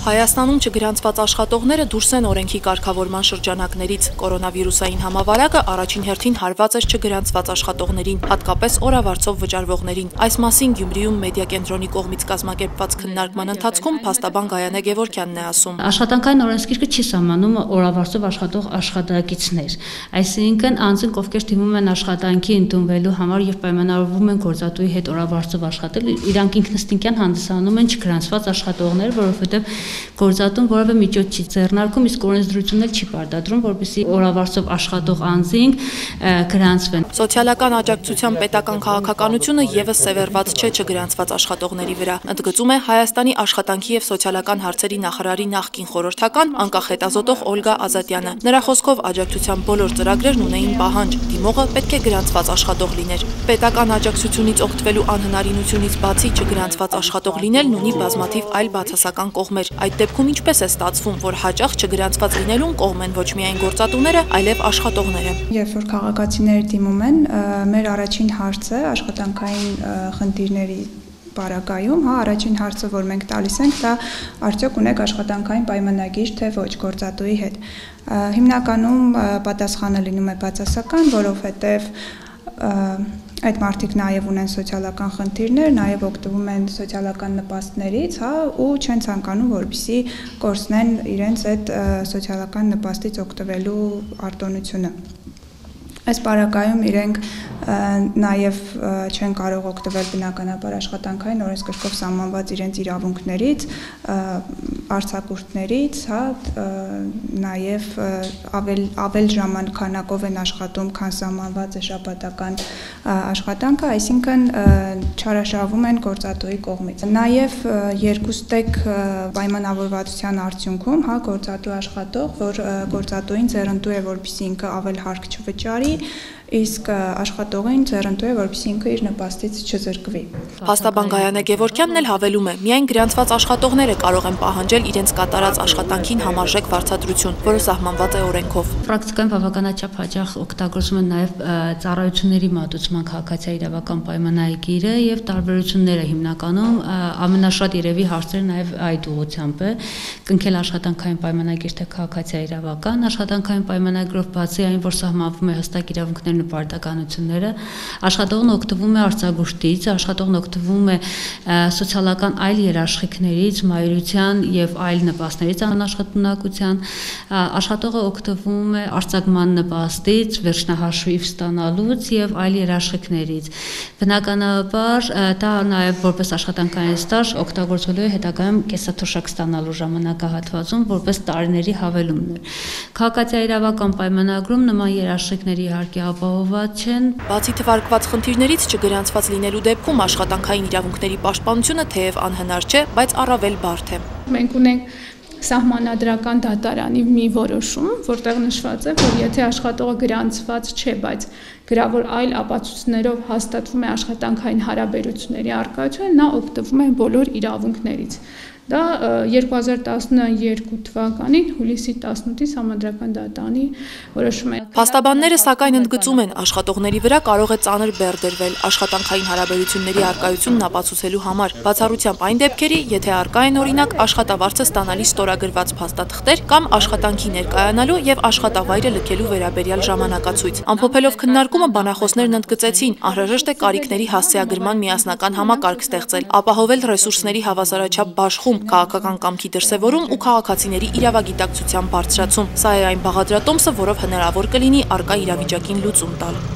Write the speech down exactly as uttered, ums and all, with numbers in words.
Հայաստանում չգրանցված աշխատողները դուրս են օրենքի կարգավորման շրջանակներից։ Կորոնավիրուսային համավարակը առաջին հերթին հարված էր չգրանցված աշխատողներին, հատկապես օրավարձով վճարվողներին։ Այս մասին Գյումրիում մեդիա կենտրոնի կողմից կազմակերպված քննարկման ընթացքում փաստաբան Գայանե Գևորգյանն է ասում. Աշխատանքային օրենսգիրքը չի սահմանում օրավարձով աշխատող աշխատակիցներ, այսինքն անձինք, ովքեր դիմում են աշխատանքի ընդունվելու համար եւ պայմանավորվում են գործատուի հետ օրավարձով աշխատել, իրանք ինքնըստինքյան հանդիսանում են չգրանցված աշխատողներ, որովհետեւ գործատուն որևէ միջոց չի ձեռնարկում, իսկ օրենսդրությունն էլ չի պարտադրում, որպեսզի օրավարձով աշխատող անձինք գրանցվեն։ Սոցիալական աջակցության պետական քաղաքականությունը եւս սևեռված չէ չգրանցված աշխատողների վրա, ընդգծում է Հայաստանի աշխատանքի եւ սոցիալական հարցերի նախարարի նախկին խորհրդական անկախ հետազոտող Օլգա Ազատյանը։ Նրա խոսքով աջակցության բոլոր ծրագրերն ունեին պահանջ, դիմողը պետք է գրանցված աշխատող լիներ։ Պետական աջակցությունից օգտվելու անհնարինությունից բացի չգրանցված աշխատող լինելն ունի բազմաթիվ այլ բացասական կողմեր։ Այդ դեպքում ինչպես է ստացվում, որ հաճախ չգրանցված լինելուն կողմ են ոչ միայն գործատուները, այլև աշխատողները։ Երբ որ քաղաքացիները դիմում են, մեր առաջին հարցը աշխատանքային խնդիրների պարագայում, հա, առաջին հարցը, որ մենք տալիս ենք, դա արդյոք ունեք աշխատանքային պայմանագիր, թե ոչ գործատուի հետ։ Հիմնականում պատասխանը լինում է բացասական, որովհետև այդ մարդիկ նաև ունեն սոցիալական խնդիրներ, նաև օգտվում են սոցիալական նպաստներից, հա, ու չեն ցանկանում, որպեսզի կորցնեն իրենց այդ սոցիալական նպաստից օգտվելու արտոնությունը։ Այս պարագայում իրենք նաև չեն կարող օգտվել բնականաբար աշխատանքային օրենսգրքով սահմանված իրենց իրավունքներից, արձակուրդներից, հա, նաև ավել ավել ժամանակով են աշխատում, քան սահմանված է շաբաթական աշխատանքը, այսինքն չարաշահվում են գործատուի կողմից։ Նաև երկուստեք պայմանավորվածության արդյունքում, հա, գործատու աշխատող, որ գործատուին ձեռնտու է, որպեսզի ինքը ավել հարկ չվճարի, իսկ աշխատողին ձեռնտու է, որպեսզի ինքը իր նպաստից չզրկվի։ Փաստաբան Գայանե Գևորգյանն էլ հավելում է, միայն գրանցված աշխատողները կարող են պահանջել իրենց կատարած աշխատանքին համարժեք վարձատրություն, որը սահմանված է օրենքով։ Պրակտիկայում բավականաչափ հաճախ օգտագործում են նաև ծառայությունների մատուցման քաղաքացիական իրավական պայմանագիրը եւ տարբերությունները հիմնականում ամենաշատ երևի հարցերը նաև այդ ուղղությամբ է կնքել աշխատանքային պայմանագիր թե քաղաքացիական իրավական, աշխատանքային պայմանագրով բացի այն, որ սահմանվում է հստակ իրավունքներ նպարտականությունները, աշխատողն օգտվում է արձագուրդից, աշխատողն օգտվում է սոցիալական այլ երաշխիքներից, մայրության եւ այլ նպաստներից անաշխատունակության, աշխատողը օգտվում է արձակման նպաստից, վերջնահաշիվ ստանալուց եւ այլ երաշխիքներից։ Բնականաբար դա նաեւ որպես աշխատանքային ստաժ օգտագործվելու է հետագայում կեսաթոշակ ստանալու ժամանակահատվածում որպես տարիների հավելումներ։ Քաղաքացիական իրավական պայմանագրում նման երաշխիքների իհարկե ապահովված չեն։ Բացի թվարկված խնդիրներից չգրանցված լինելու դեպքում աշխատանքային իրավունքների պաշտպանությունը թեև անհնար չէ, բայց առավել բարդ է։ Մենք ունենք սահմանադրական դատարանի մի որոշում, որտեղ նշված է, որ եթե աշխատողը գրանցված չէ, բայց գրավոր այլ ապացույցներով հաստատվում է աշխատանքային հարաբերությունների առկայությունը, նա օգտվում է բոլոր իրավունքներից։ Դա երկու հազար տասնյոթ թվականի հուլիսի տասնութի Սահմանադրական դատարանի որոշում է։ Փաստաբանները սակայն ընդգծում են, աշխատողների վրա կարող է ծանր բեռ դրվել աշխատանքային հարաբերությունների առկայությունն ապացուցելու համար, բացառությամբ այն դեպքերի, եթե առկա են օրինակ աշխատավարձը ստանալի ստորագրված փաստաթղթեր կամ աշխատանքի ներկայանալու եւ աշխատավայրը լքելու վերաբերյալ ժամանակացույց։ Ամփոփելով քննարկումը բանախոսներն ընդգծեցին, անհրաժեշտ է կարիքների հասցեագրման միասնական համակարգ ստեղծել, ապահովել ռեսուրսների հավասարաչափ բաշխում, քաղաքական կամքի դրսևորում ու քաղաքացիների իրավագիտակցության բարձրացում։ Սա է այն բաղադրատոմսը, որով հնարավոր կլինի առկա իրավիճակին լուծում տալ։